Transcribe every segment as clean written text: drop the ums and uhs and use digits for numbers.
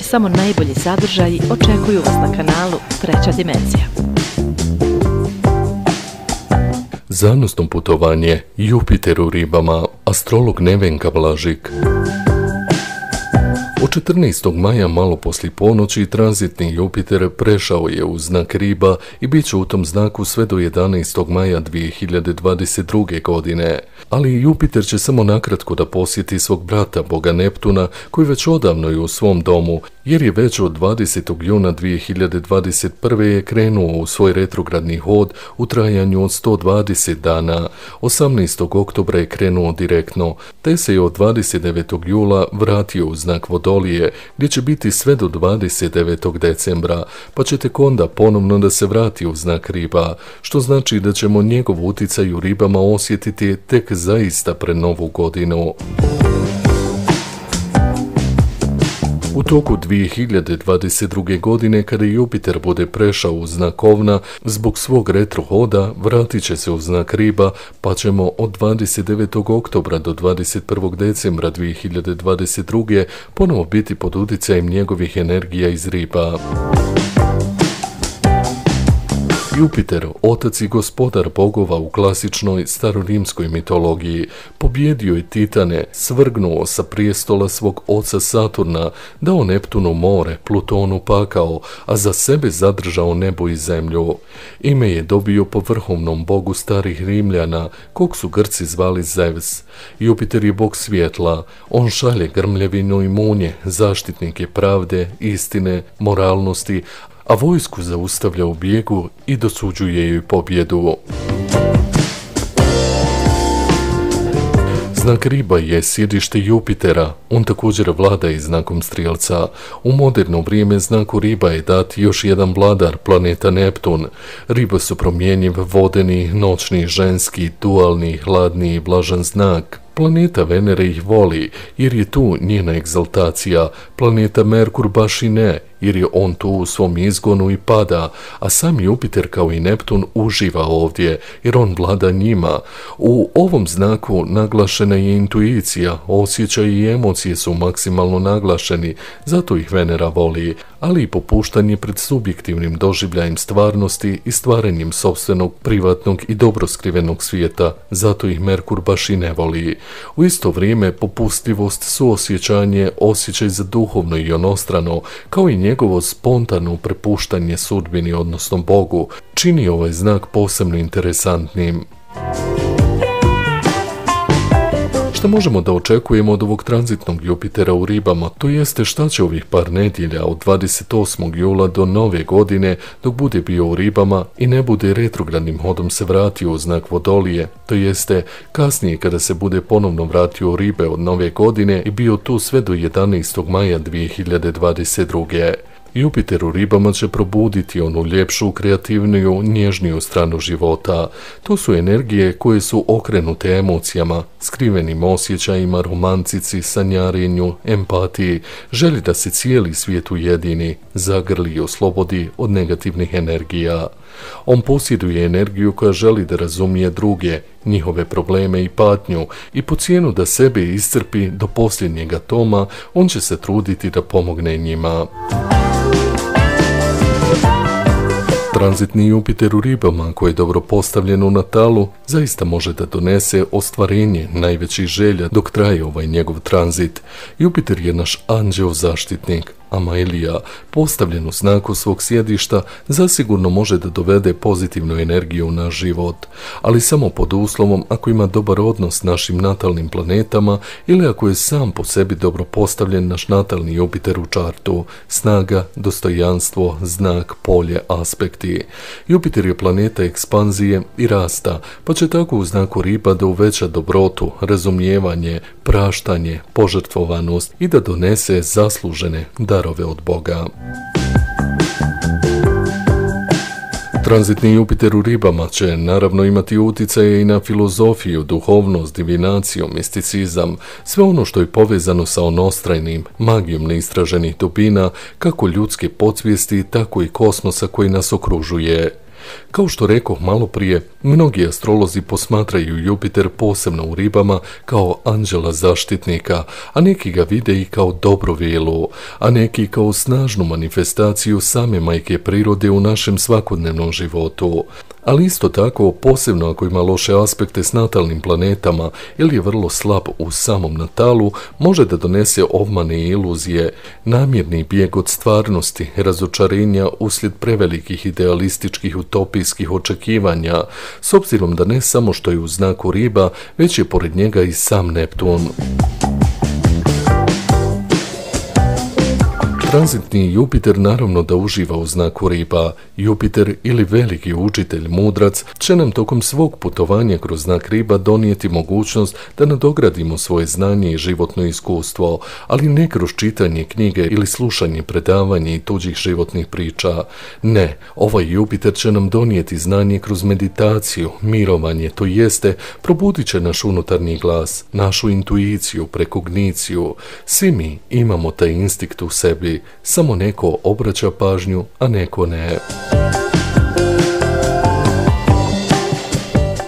samo najbolji sadržaji očekuju vas na kanalu Treća dimenzija. Zanosno putovanje, Jupiter u ribama, astrolog Nevenka Blažik. Od 14. maja malo poslije ponoći tranzitni Jupiter prešao je u znak riba i bit će u tom znaku sve do 11. maja 2022. godine. Ali Jupiter će samo nakratko da posjeti svog brata, boga Neptuna, koji već odavno je u svom domu, jer je već od 20. juna 2021. je krenuo u svoj retrogradni hod u trajanju od 120 dana. 18. oktobra je krenuo direktno, te se je od 29. jula vratio u znak Vodolije, gdje će biti sve do 29. decembra, pa će tek onda ponovno da se vrati u znak riba, što znači da ćemo njegov uticaj u ribama osjetiti tek zaista pred novu godinu. U toku 2022. godine, kada Jupiter bude prešao u znak Ovna, zbog svog retrohoda vratit će se u znak riba, pa ćemo od 29. oktobra do 21. decembra 2022. ponovo biti pod utjecajem njegovih energija iz riba. Jupiter, otac i gospodar bogova u klasičnoj starorimskoj mitologiji, pobjedio je Titane, svrgnuo sa prijestola svog oca Saturna, dao Neptunu more, Plutonu pakao, a za sebe zadržao nebo i zemlju. Ime je dobio po vrhovnom bogu starih Rimljana, kog su Grci zvali Zevs. Jupiter je bog svjetla, on šalje grmljavinu i munje, zaštitnik je pravde, istine, moralnosti, a vojsku zaustavlja u bijegu i dosuđuje joj pobjedu. Znak riba je sjedište Jupitera, on također vlada i znakom Strijelca. U moderno vrijeme znaku riba je dat još jedan vladar, planeta Neptun. Riba su promjenjiv, vodeni, noćni, ženski, dualni, hladni i vlažan znak. Planeta Venere ih voli, jer je tu njena egzaltacija, planeta Merkur baš i ne, jer je on tu u svom izgonu i pada, a sam Jupiter kao i Neptun uživa ovdje, jer on vlada njima. U ovom znaku naglašena je intuicija, osjećaj i emocije su maksimalno naglašeni, zato ih Venera voli, ali i popuštanje pred subjektivnim doživljajem stvarnosti i stvaranjem sopstvenog, privatnog i dobro skrivenog svijeta, zato ih Merkur baš i ne voli. U isto vrijeme popustljivost, suosjećanje, osjećaj za duhovno i onostrano, kao i njegovo spontano prepuštanje sudbini, odnosno Bogu, čini ovaj znak posebno interesantnim. Šta možemo da očekujemo od ovog tranzitnog Jupitera u ribama, to jeste šta će ovih par nedjelja od 28. jula do nove godine, dok bude bio u ribama i ne bude retrogradnim hodom se vratio u znak Vodolije, to jeste kasnije kada se bude ponovno vratio u ribe od nove godine i bio tu sve do 11. maja 2022. Jupiter u ribama će probuditi onu ljepšu, kreativniju, nježniju stranu života. To su energije koje su okrenute emocijama, skrivenim osjećajima, romantici, sanjarenju, empatiji, želi da se cijeli svijet ujedini, zagrli i oslobodi od negativnih energija. On posjeduje energiju koja želi da razumije druge, njihove probleme i patnju i po cijenu da sebe iscrpi do posljednjeg atoma, on će se truditi da pomogne njima. Tranzitni Jupiter u ribama, koji je dobro postavljen u natalu, zaista može da donese ostvarenje najvećih želja dok traje ovaj njegov tranzit. Jupiter je naš anđeo zaštitnik, a Maelija, postavljen u znaku svog sjedišta, zasigurno može da dovede pozitivnu energiju u naš život, ali samo pod uslovom ako ima dobar odnos s našim natalnim planetama ili ako je sam po sebi dobro postavljen naš natalni Jupiter u čartu, snaga, dostojanstvo, znak, polje, aspekti. Jupiter je planeta ekspanzije i rasta, pa će tako u znaku riba da uveća dobrotu, razumijevanje, praštanje, požrtvovanost i da donese zaslužene darove od Boga. Tranzitni Jupiter u ribama će naravno imati utjecaje i na filozofiju, duhovnost, divinaciju, misticizam, sve ono što je povezano sa onostrajnim, magijom neistraženih dubina, kako ljudske podsvijesti, tako i kosmosa koji nas okružuje. Kao što rekoh malo prije, mnogi astrolozi posmatraju Jupiter posebno u ribama kao anđela zaštitnika, a neki ga vide i kao dobru vilu, a neki kao snažnu manifestaciju same majke prirode u našem svakodnevnom životu. Ali isto tako, posebno ako ima loše aspekte s natalnim planetama ili je vrlo slab u samom natalu, može da donese obmane i iluzije, namjerni bijeg od stvarnosti, razočarenja uslijed prevelikih idealističkih utopijskih očekivanja, s obzirom da ne samo što je u znaku riba, već je pored njega i sam Neptun. Tranzitni Jupiter naravno da uživa u znaku riba. Jupiter ili veliki učitelj mudrac će nam tokom svog putovanja kroz znak riba donijeti mogućnost da nadogradimo svoje znanje i životno iskustvo, ali ne kroz čitanje knjige ili slušanje predavanja i tuđih životnih priča. Ne, ovaj Jupiter će nam donijeti znanje kroz meditaciju, mirovanje, to jeste probudit će naš unutarnji glas, našu intuiciju, prekogniciju. Svi mi imamo taj instinkt u sebi, samo neko obraća pažnju, a neko ne.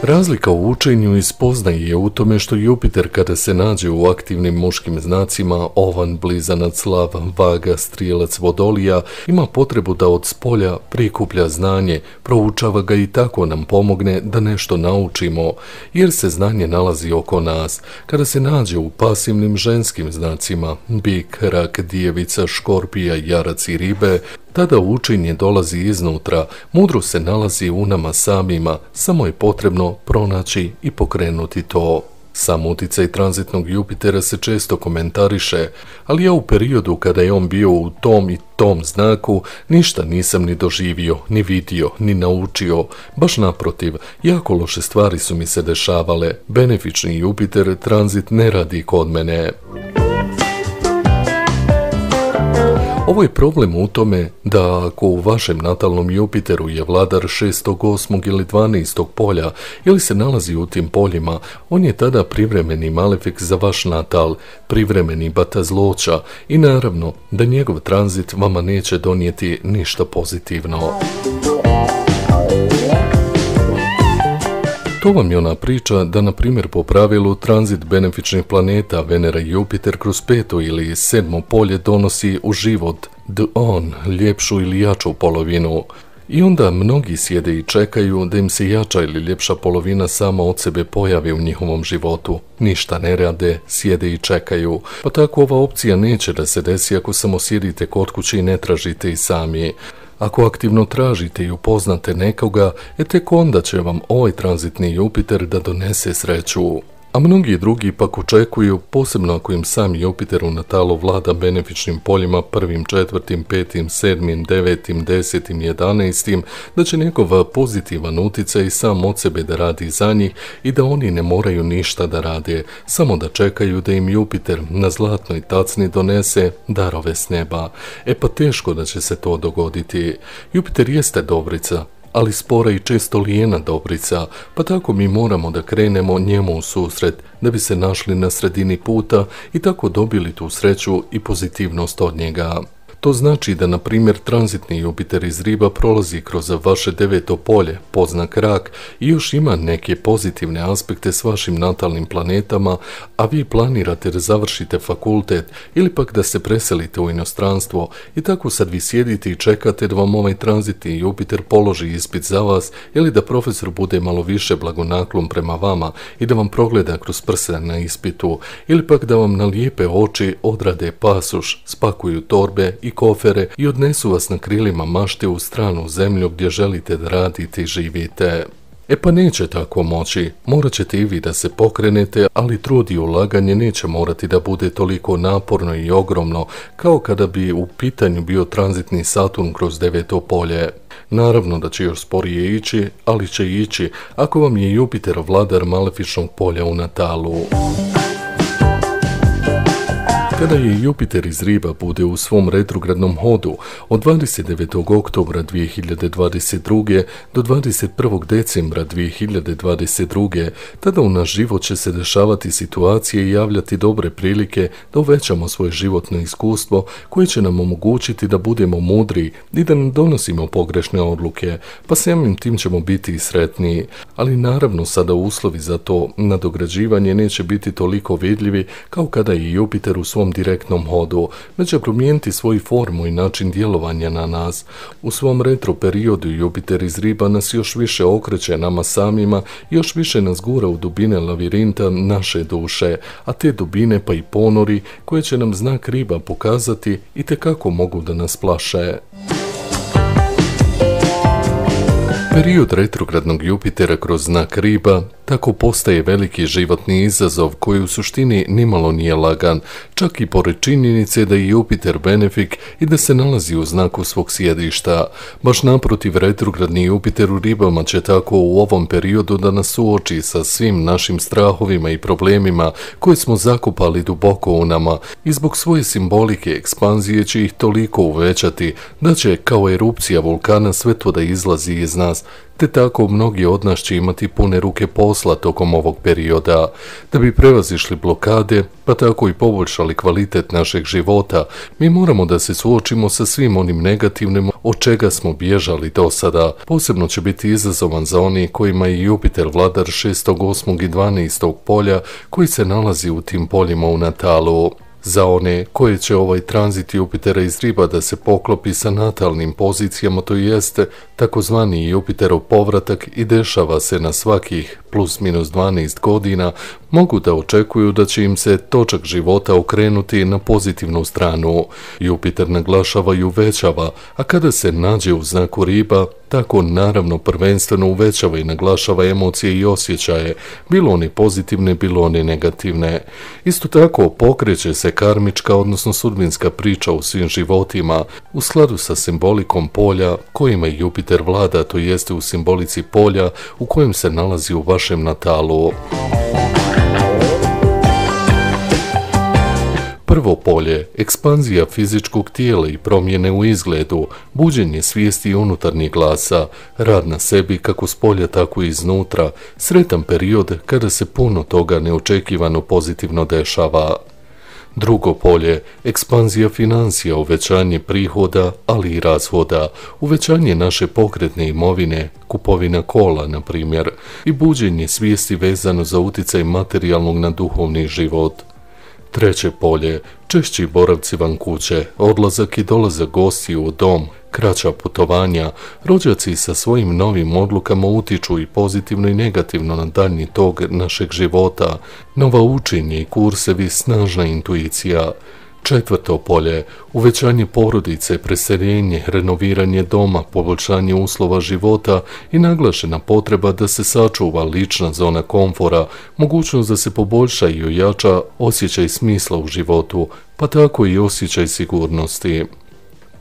Razlika u učenju i spoznaji je u tome što Jupiter kada se nađe u aktivnim muškim znacima Ovan, Blizanac, Lav, Vaga, Strijelac, Vodolija ima potrebu da od spolja prikuplja znanje, proučava ga i tako nam pomogne da nešto naučimo, jer se znanje nalazi oko nas. Kada se nađe u pasivnim ženskim znacima Bik, Rak, Djevica, Škorpija, Jarac i Ribe, tada učenje dolazi iznutra, mudrost se nalazi u nama samima, samo je potrebno pronaći i pokrenuti to. Sam uticaj tranzitnog Jupitera se često komentariše, ali ja u periodu kada je on bio u tom i tom znaku ništa nisam ni doživio, ni vidio, ni naučio. Baš naprotiv, jako loše stvari su mi se dešavale. Benefični Jupiter tranzit ne radi kod mene. Ovo je problem u tome da ako u vašem natalnom Jupiteru je vladar 6., 8. ili 12. polja ili se nalazi u tim poljima, on je tada privremeni malefik za vaš natal, privremeni batazloća i naravno da njegov tranzit vama neće donijeti ništa pozitivno. To vam je ona priča da, na primjer, po pravilu tranzit benefičnih planeta Venera i Jupiter kroz 5. ili 7. polje donosi u život ljepšu ili jaču polovinu. I onda mnogi sjede i čekaju da im se jača ili ljepša polovina sama od sebe pojavi u njihovom životu. Ništa ne rade, sjede i čekaju. Pa tako ova opcija neće da se desi ako samo sjedite kod kuće i ne tražite i sami. Ako aktivno tražite i upoznate nekoga, tek onda će vam ovaj tranzitni Jupiter da donese sreću. A mnogi drugi pak očekuju, posebno ako im sam Jupiter u natalu vlada benefičnim poljima 1., 4., 5., 7., 9., 10., 11., da će njegov pozitivan uticaj sam od sebe da radi za njih i da oni ne moraju ništa da rade, samo da čekaju da im Jupiter na zlatnoj tacni donese darove s neba. Pa teško da će se to dogoditi. Jupiter jeste dobrica, ali spora i često lijena dobrica, pa tako mi moramo da krenemo njemu u susret, da bi se našli na sredini puta i tako dobili tu sreću i pozitivnost od njega. To znači da, na primjer, tranzitni Jupiter iz Riba prolazi kroz vaše 9. polje, podznak Rak, i još ima neke pozitivne aspekte s vašim natalnim planetama, a vi planirate da završite fakultet ili pak da se preselite u inostranstvo i tako sad vi sjedite i čekate da vam ovaj tranzitni Jupiter položi ispit za vas ili da profesor bude malo više blagonaklon prema vama i da vam progleda kroz prste na ispitu ili pak da vam na lijepe oči odrade pasoš, spakuju torbe i kofere i odnesu vas na krilima mašte u stranu zemlju gdje želite da radite i živite. Pa neće tako moći, morat ćete i vi da se pokrenete, ali trud i ulaganje neće morati da bude toliko naporno i ogromno kao kada bi u pitanju bio tranzitni Saturn kroz 9. polje. Naravno da će još sporije ići, ali će ići ako vam je Jupiter vladar malefičnog polja u natalu. Kada je Jupiter iz Riba bude u svom retrogradnom hodu od 29. oktobra 2022. do 21. decembra 2022. tada u naš život će se dešavati situacije i javljati dobre prilike da uvećamo svoje životno iskustvo koje će nam omogućiti da budemo mudri i da ne donosimo pogrešne odluke, pa samim tim ćemo biti i sretniji. Ali naravno sada uslovi za to nadograđivanje neće biti toliko vidljivi kao kada je Jupiter u svom direktnom hodu, već će promijeniti svoju formu i način djelovanja na nas. U svom retro periodu Jupiter iz Riba nas još više okreće nama samima, još više nas gura u dubine lavirinta naše duše, a te dubine pa i ponori koje će nam znak Riba pokazati itekako mogu da nas plaše. Period retrogradnog Jupitera kroz znak Riba tako postaje veliki životni izazov koji u suštini nimalo nije lagan, čak i pored činjenice da je Jupiter benefik i da se nalazi u znaku svog sjedišta. Baš naprotiv, retrogradni Jupiter u Ribama će tako u ovom periodu da nas suoči sa svim našim strahovima i problemima koje smo zakopali duboko u nama i zbog svoje simbolike ekspanzije će ih toliko uvećati da će kao erupcija vulkana sve to da izlazi iz nas, te tako mnogi od nas će imati pune ruke posla tokom ovog perioda. Da bi prevazišli blokade, pa tako i poboljšali kvalitet našeg života, mi moramo da se suočimo sa svim onim negativnim od čega smo bježali do sada. Posebno će biti izazovan za oni kojima je Jupiter vladar 6., 8. i 12. polja koji se nalazi u tim poljima u natalu. Za one koje će ovaj tranzit Jupitera iz Riba da se poklopi sa natalnim pozicijama, to jeste takozvani Jupiterov povratak i dešava se na svakih plus minus 12 godina, mogu da očekuju da će im se točak života okrenuti na pozitivnu stranu. Jupiter naglašava i uvećava, a kada se nađe u znaku Riba, tako naravno prvenstveno uvećava i naglašava emocije i osjećaje, bilo one pozitivne, bilo one negativne. Isto tako pokreće se karmička, odnosno sudbinska priča u svim životima, u skladu sa simbolikom polja kojima Jupiter vlada, to jeste u simbolici polja u kojem se nalazi u vašem natalu. Prvo polje, ekspanzija fizičkog tijela i promjene u izgledu, buđenje svijesti i unutarnjih glasa, rad na sebi kako s polja tako i iznutra, sretan period kada se puno toga neočekivano pozitivno dešava. Drugo polje, ekspanzija financija, uvećanje prihoda, ali i rashoda, uvećanje naše pokretne imovine, kupovina kola, na primjer, i buđenje svijesti vezano za utjecaj materijalnog na duhovni život. Treće polje, češći boravci van kuće, odlazak i dolazak gostiju u dom, kraća putovanja, rođaci sa svojim novim odlukama utiču i pozitivno i negativno na daljnji tok našeg života, nova učenje i kursevi, snažna intuicija. Četvrto polje, uvećanje porodice, preseljenje, renoviranje doma, poboljšanje uslova života i naglašena potreba da se sačuva lična zona komfora, mogućnost da se poboljša i ojača osjećaj smisla u životu, pa tako i osjećaj sigurnosti.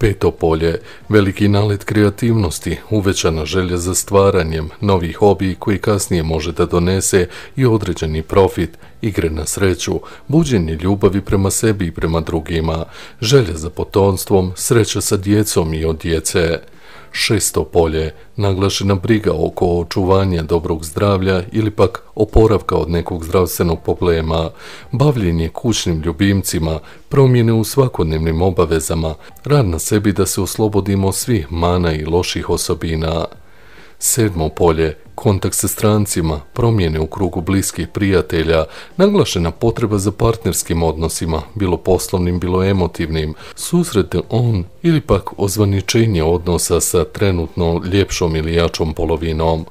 Peto polje, veliki nalet kreativnosti, uvećana želja za stvaranjem, novi hobi koji kasnije može da donese i određeni profit, igre na sreću, buđenje ljubavi prema sebi i prema drugima, želja za potomstvom, sreća sa djecom i od djece. Šesto polje, naglašena briga oko očuvanja dobrog zdravlja ili pak oporavka od nekog zdravstvenog problema, bavljenje kućnim ljubimcima, promjene u svakodnevnim obavezama, rad na sebi da se oslobodimo svih mana i loših osobina. Sedmo polje, kontakt sa strancima, promjene u krugu bliskih prijatelja, naglašena potreba za partnerskim odnosima, bilo poslovnim, bilo emotivnim, susrete on ili pak ozvaničenje odnosa sa trenutno ljepšom ili jačom polovinom.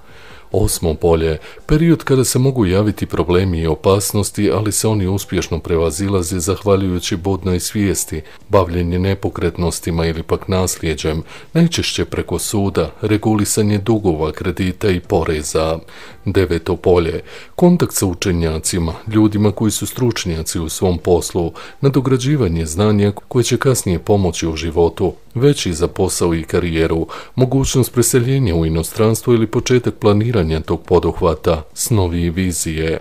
Osmo polje, period kada se mogu javiti problemi i opasnosti, ali se oni uspješno prevazilaze zahvaljujući budnoj svijesti, bavljenje nepokretnostima ili pak nasljeđem, najčešće preko suda, regulisanje dugova, kredita i poreza. Deveto polje, kontakt sa učenjacima, ljudima koji su stručnjaci u svom poslu, nadograđivanje znanja koje će kasnije pomoći u životu, veći za posao i karijeru, mogućnost preseljenja u inostranstvo ili početak planiranja tog poduhvata, snovi i vizije.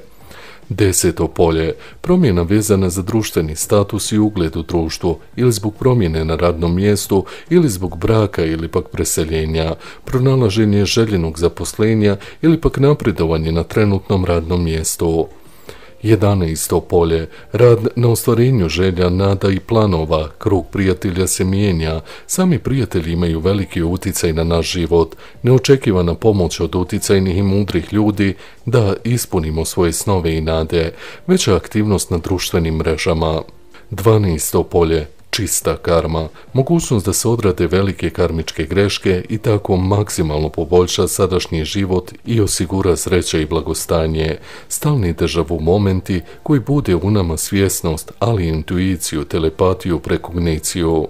10. polje, promjena vezana za društveni status i ugled u društvu ili zbog promjene na radnom mjestu ili zbog braka ili pak preseljenja, pronalaženje željenog zaposlenja ili pak napredovanje na trenutnom radnom mjestu. 11. polje, rad na ostvarenju želja, nada i planova, krug prijatelja se mijenja, sami prijatelji imaju veliki utjecaj na naš život, neočekivana pomoć od utjecajnih i mudrih ljudi da ispunimo svoje snove i nade, veća aktivnost na društvenim mrežama. 12. polje, čista karma, mogućnost da se odrade velike karmičke greške i tako maksimalno poboljša sadašnji život i osigura sreće i blagostanje, stalni deja-vu momenti koji bude u nama svjesnost, ali i intuiciju, telepatiju, prekogniciju.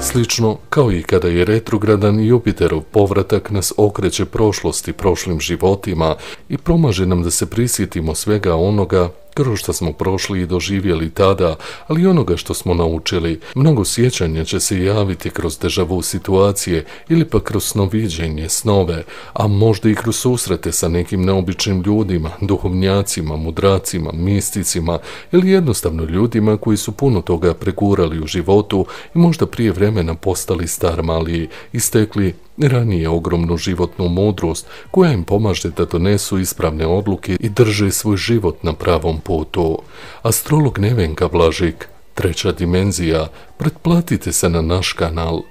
Slično kao i kada je retrogradan Jupiterov povratak nas okreće prošlosti, prošlim životima i pomaže nam da se prisjetimo svega onoga kroz što smo prošli i doživjeli tada, ali i onoga što smo naučili. Mnogo sjećanja će se javiti kroz deja-vu situacije ili pa kroz snoviđenje, snove, a možda i kroz susrete sa nekim neobičnim ljudima, duhovnjacima, mudracima, misticima ili jednostavno ljudima koji su puno toga pregurali u životu i možda prije vremena postali starmali i stekli ranije ogromnu životnu mudrost koja im pomaže da donesu ispravne odluke i drže svoj život na pravom putu. Astrolog Nevenka Blažik, treća dimenzija, pretplatite se na naš kanal.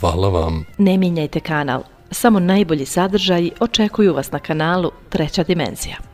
Hvala vam. Ne mijenjajte kanal, samo najbolji sadržaji očekuju vas na kanalu Treća dimenzija.